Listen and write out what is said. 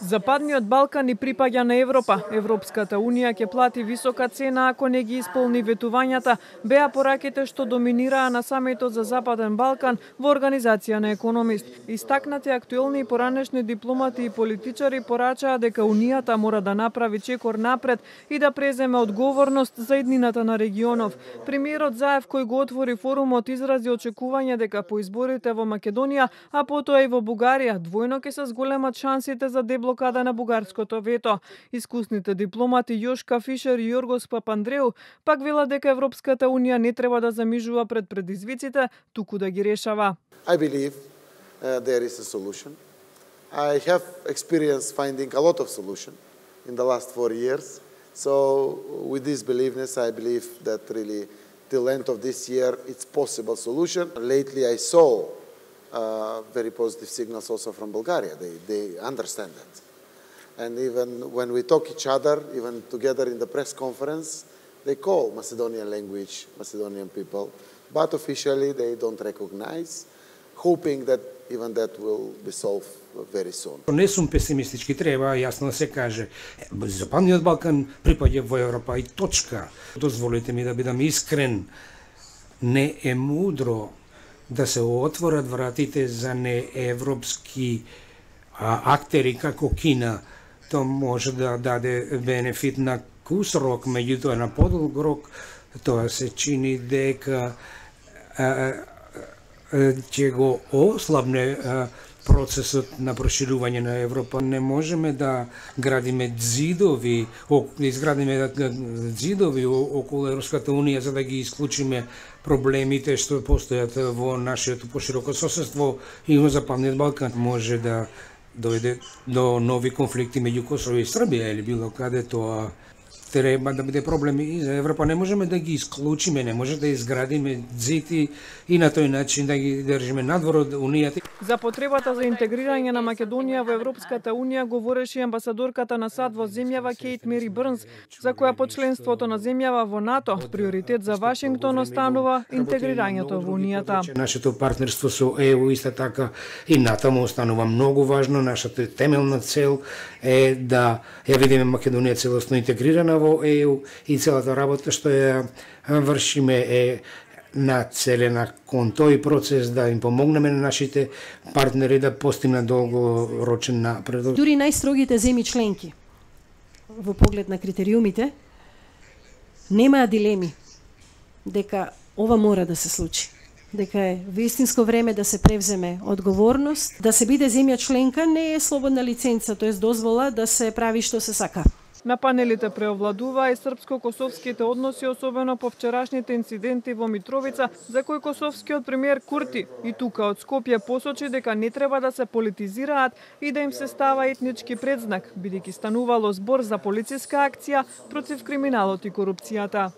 Западниот Балкан и припаѓа на Европа. Европската Унија ќе плати висока цена ако не ги исполни ветувањата, беа пораките што доминираа на самитот за Западен Балкан во Организација на Економист. Истакнати актуелни и поранешни дипломати и политичари порачаа дека Унијата мора да направи чекор напред и да преземе одговорност за иднината на регионов. Премиерот Заев, кој го отвори форумот, изрази очекување дека по изборите во Македонија, а потоа и во Бугарија, двојно ќе се зголемат шансите за деблокада на бугарското вето. Искусните дипломати Јошка Фишер и Јоргос Папандреу пак велат дека Европската Унија не треба да замижува пред предизвиците, туку да ги решава. I believe there is a solution. I have experienced finding a lot of solution in the last 4 years. So with this beliefness, I believe that really till end of this year, it's possible solution. Lately, I saw very positive signals also from Bulgaria. They understand that. And even when we talk each other, even together in the press conference, they call Macedonian language, Macedonian people, but officially they don't recognize, hoping that even that will be solved very soon. Не сум песимистички, треба јасно да се каже. Западниот Балкан припаѓа во Европа и точка. Дозволите ми да бидам искрен, не е мудро да се отворат вратите за неевропски актери како Кина. Тоа може да даде бенефит на кус рок, меѓутоа на подолг рок тоа се чини дека ќе го ослабне процесот на проширување на Европа. Не можеме да градиме зидови, изградиме зидови околу Европската Унија за да ги исклучиме проблемите што постојат во нашето пошироко соседство и во Западниот Балкан. Може да дојде до нови конфликти меѓу Косово и Србија или било каде, тоа треба да биде проблем и за Европа. Не можеме да ги исклучиме, не може да изградиме зити и на тој начин да ги држиме надвор од Унијата. За потребата за интегрирање на Македонија во Европската Унија говореше амбасадорката на САД во земјава Кейт Мери Брнс, за која по членството на земјава во НАТО приоритет за Вашингтон останува интегрирањето во Унијата. Нашето партнерство со ЕУ исто така и натаму останува многу важно. Нашата темелна цел е да ја видиме Македонија целосно интегрирана во ЕУ и целата работа што ја вршиме е нацелена кон тој процес да им помогнеме на нашите партнери да постигнат долгорочен напредок. Дури најстрогите земји членки во поглед на критериумите немаа дилеми дека ова мора да се случи. Дека е вистинско време да се превземе одговорност, да се биде земја членка не е слободна лиценца, тоест дозвола да се прави што се сака. На панелите преовладува и српско-косовските односи, особено по вчерашните инциденти во Митровица, за кој косовскиот премиер Курти и тука од Скопје посочи дека не треба да се политизираат и да им се става етнички предзнак, бидејќи станувало збор за полициска акција против криминалот и корупцијата.